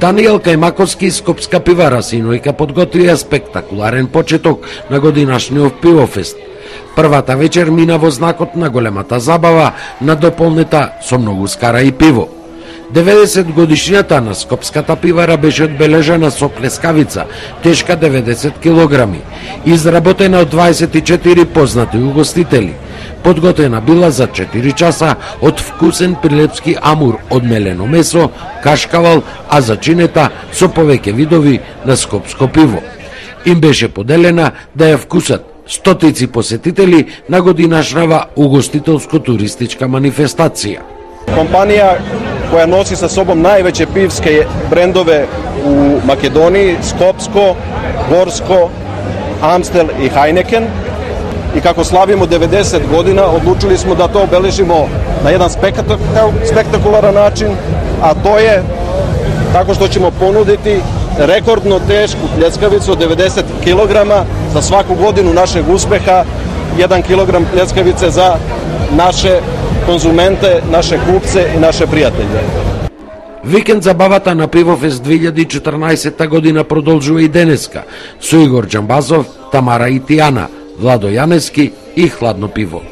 Даниел Кајмаковски и Скопска пивара синојка подготвија спектакуларен почеток на годинашниот пивофест. Првата вечер мина во знакот на големата забава, надополнета со многу скара и пиво. 90 годишнината на Скопската пивара беше одбележена со плескавица, тешка 90 килограми, изработена од 24 познати угостители. Подготвена била за 4 часа од вкусен прилепски амур од мелено месо, кашкавал, а зачинета со повеќе видови на скопско пиво. Им беше поделена да ја вкусат стотици посетители на годинашнава угостителско-туристичка манифестација. Компанија која носи со собом највеќе пивски брендове у Македонија, Скопско, Горско, Амстел и Хајнекен. И како славимо 90 година, одлучили смо да тоа обележимо на еден спектакуларен начин, а тоа е така што ćemo понудити рекордно тешку плескавицу од 90 килограма за сваку годину нашег успеха, 1 килограм плескавице за наше конзументе, наше купце и наше пријатели. Викенд забавата на Пивофест 2014 година продолжува и денеска со Игор Џамбазов, Тамара Итијана, Владо Јанески и Хладно пиво.